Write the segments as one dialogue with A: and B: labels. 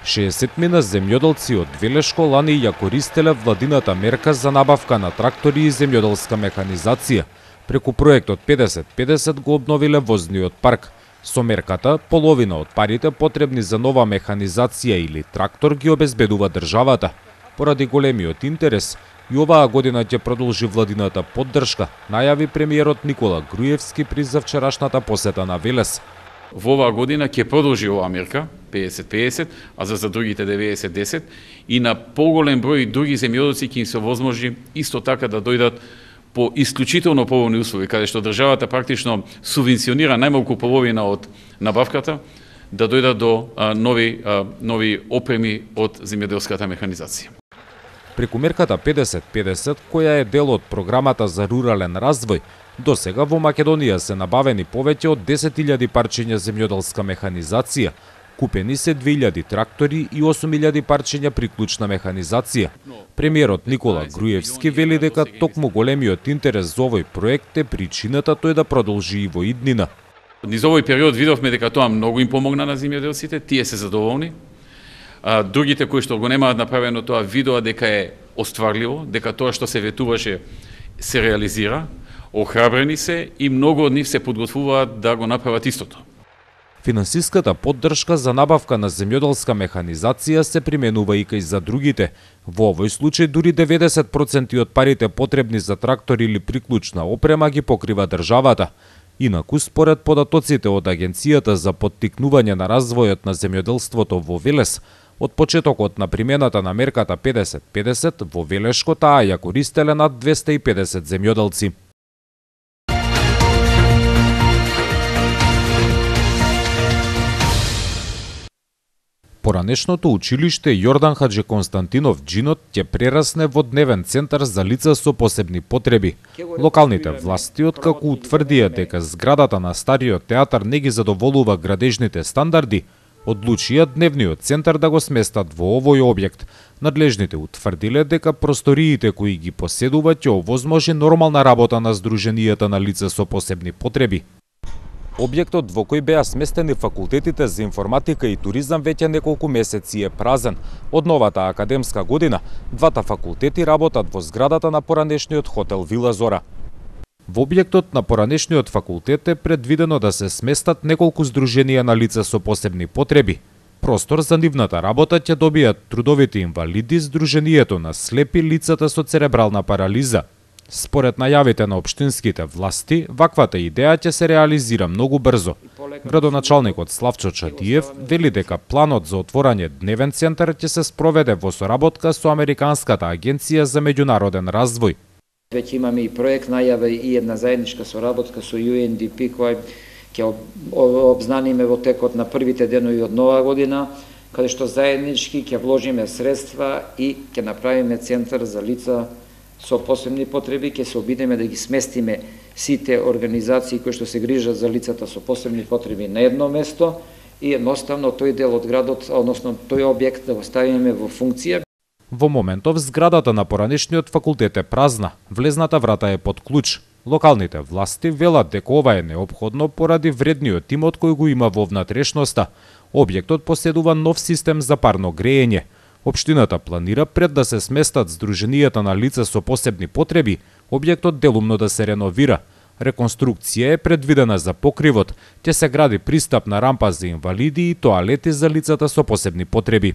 A: 60 земјоделци од Велешко лани ја користеле владината мерка за набавка на трактори и земјоделска механизација. Преку проектот 50-50 го обновиле возниот парк. Со мерката, половина од парите потребни за нова механизација или трактор ги обезбедува државата. Поради големиот интерес, и оваа година ќе продолжи владината поддршка, најави премиерот Никола Груевски при завчерашната посета на Велес.
B: Во оваа година ќе продолжи оваа мерка 50-50, а за другите 90-10 и на поголем број други земјоделци ќе им се возможи исто така да дојдат по исклучително поволни услови, каде што државата практично субвенционира најмалку половина од набавката, да дојдат до нови опреми од земјоделската механизација.
A: Преку мерката 50-50, која е дел од програмата за рурален развој, досега во Македонија се набавени повеќе од 10.000 парчиња земјоделска механизација, купени се 2.000 трактори и 8.000 парчиња приклучна механизација. Премиерот Никола Груевски вели дека токму големиот интерес за овој проект е причината тој да продолжи и во иднина.
B: Низ овој период видовме дека тоа многу им помогна на земјоделците, тие се задоволни. Другите кои што го немаат направено тоа видоа дека е остварливо, дека тоа што се ветуваше се реализира, охрабрени се и многу од нив се подготвуваат да го направат истото.
A: Финансиската поддршка за набавка на земјоделска механизација се применува и кај за другите. Во овој случај дури 90% од парите потребни за трактор или приклучна опрема ги покрива државата. Инаку, според податоците од Агенцијата за поттикнување на развојот на земјоделството во Велес, од почетокот на примената на мерката 50-50 во Велешко таа ја користеле над 250 земјоделци. Поранешното училиште Јордан Хаджи Константинов Џинот ќе прерасне во дневен центар за лица со посебни потреби. Локалните власти, откако утврдија дека зградата на стариот театар не ги задоволува градежните стандарди, одлучија дневниот центар да го сместат во овој објект. Надлежните утврдиле дека просториите кои ги поседуваат ќе овозможи нормална работа на здруженијата на лица со посебни потреби. Објектот во кој беа сместени факултетите за информатика и туризам веќе неколку месеци е празен. Од новата академска година, двата факултети работат во зградата на поранешниот хотел Вила Зора. Во објектот на поранешниот факултет е предвидено да се сместат неколку здруженија на лица со посебни потреби. Простор за нивната работа ќе добијат трудовите инвалиди, здруженијето на слепи, лицата со церебрална парализа. Според најавите на општинските власти, ваквата идеја ќе се реализира многу брзо. Градоначалникот Славчо Чадиев вели дека планот за отворање дневен центар ќе се спроведе во соработка со Американската агенција за меѓународен развој.
C: Веќе имаме и проект најава и една заедничка соработка со UNDP која ќе обзнаниме во текот на првите денови од нова година, каде што заеднички ќе вложиме средства и ќе направиме центар за лица со посебни потреби, ќе се обидеме да ги сместиме сите организации кои што се грижат за лицата со посебни потреби на едно место и едноставно тој дел од градот, односно тој објект да го ставиме во функција.
A: Во моментов зградата на поранешниот факултет е празна, влезната врата е под клуч. Локалните власти велат дека ова е неопходно поради вредниот имот кој го има во внатрешноста. Објектот поседува нов систем за парно греење. Општината планира пред да се сместат здруженијата на лица со посебни потреби, објектот делумно да се реновира. Реконструкција е предвидена за покривот, ќе се гради пристапна рампа за инвалиди и тоалети за лицата со посебни потреби.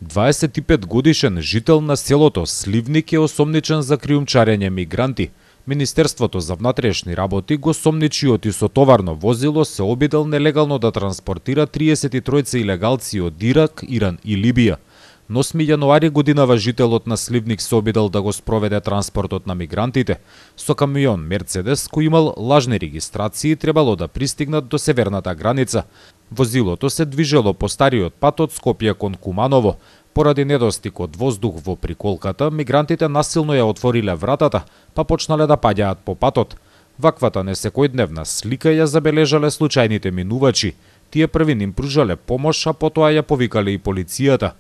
A: Дваесетипетгодишен жител на селото Сливник е осомничен за криумчарење мигранти. Министерството за внатрешни работи го сомничиот и со товарно возило се обидел нелегално да транспортира 33 илегалци од Ирак, Иран и Либија. На 8 јануари годинава жителот на Сливник се обидел да го спроведе транспортот на мигрантите. Со камион Мерцедес кој имал лажни регистрации требало да пристигнат до северната граница. Возилото се движело по стариот пат од Скопје кон Куманово. Поради недостиг од воздух во приколката, мигрантите насилно ја отвориле вратата, па почнале да паѓаат по патот. Ваквата несекојдневна слика ја забележале случајните минувачи. Тие први им пружале помош, а потоа ја повикале и полицијата.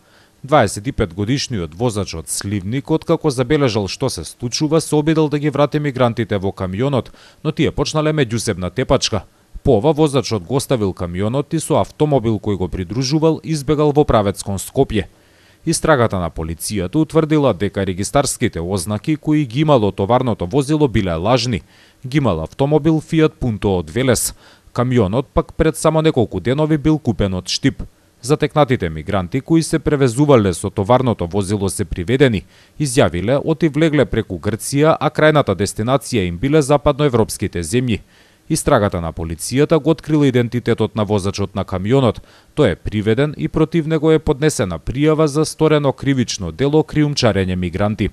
A: 25-годишниот возач од Сливник, откако забележал што се случува, се обидел да ги врати мигрантите во камионот, но тие почнале меѓусебна тепачка. По ова возачот го оставил камионот и со автомобил кој го придружувал избегал во правец кон Скопје. Истрагата на полицијата утврдила дека регистарските ознаки кои ги имало товарното возило биле лажни. Ги имал автомобил Fiat Punto од Велес. Камионот пак пред само неколку денови бил купен од Штип. Затекнатите мигранти кои се превезувале со товарното возило се приведени, изјавиле оти влегле преку Грција, а крајната дестинација им биле западноевропските земји. Истрагата на полицијата го открила идентитетот на возачот на камионот. Тој е приведен и против него е поднесена пријава за сторено кривично дело криумчарење мигранти.